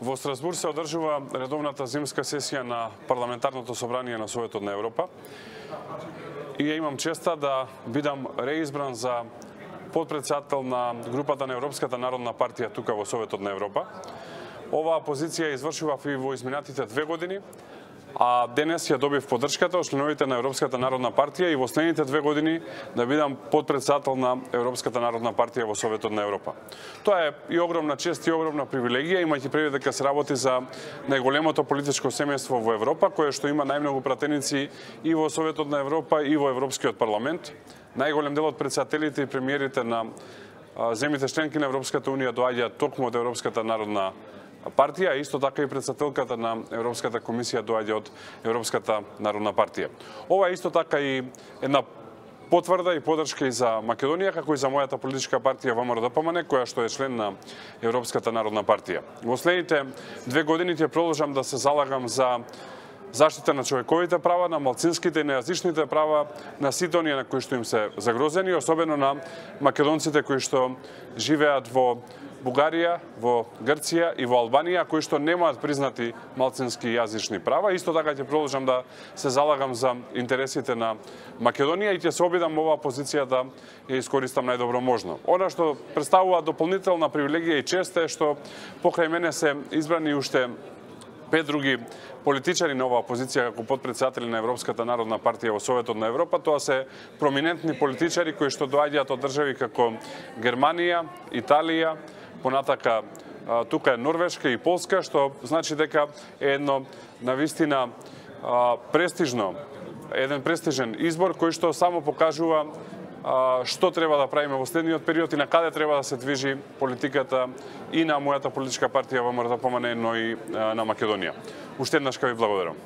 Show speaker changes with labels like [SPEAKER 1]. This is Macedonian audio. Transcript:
[SPEAKER 1] Во Страсбург се одржува редовната зимска сесија на Парламентарното собрание на Советот на Европа. И ја имам честа да бидам реизбран за подпредседател на групата на Европската народна партија тука во Советот на Европа. Оваа позиција извршував и во изминатите 2 години, а денес ја добив поддршката од членовите на Европската народна партија и во следните 2 години да бидам подпредседател на Европската народна партија во Советот на Европа. Тоа е и огромна чест и огромна привилегија, имајќи предвид дека се работи за најголемото политичко семејство во Европа, кое што има најмногу пратеници и во Советот на Европа и во Европскиот парламент. Најголем дел од претседателите и премиерите на земјите членки на Европската унија доаѓаат токму од Европската народна партија, исто така и претседателката на Европската комисија доаѓа од Европската народна партија. Ова е исто така и една потврда и поддршка и за Македонија, како и за мојата политичка партија ВМРО-ДПМН, која што е член на Европската народна партија. Во следните 2 години ќе продолжам да се залагам за заштита на човековите права, на малцинските и нејазичните права, на сите оние на кои што им се загрозени, особено на македонците кои што живеат во Бугарија, во Грција и во Албанија, кои што немаат признати малцински јазични права. Исто така ќе продолжам да се залагам за интересите на Македонија и ќе се обидам оваа позиција да ја искористам најдобро можно. Она што представува дополнителна привилегија и чест е што покрај мене се избрани уште 5 други политичари на оваа позиција како подпредседатели на Европската народна партија во Советот на Европа. Тоа се проминентни политичари кои што доаѓаат од држави како Германија, Италија, понатака тука е Норвешка и Полска, што значи дека е едно навистина еден престижен избор кој што само покажува што треба да правиме во следниот период и на каде треба да се движи политиката и на мојата политичка партија ВМРО-ДПМН, но и на Македонија. Уште еднаш ви благодарам.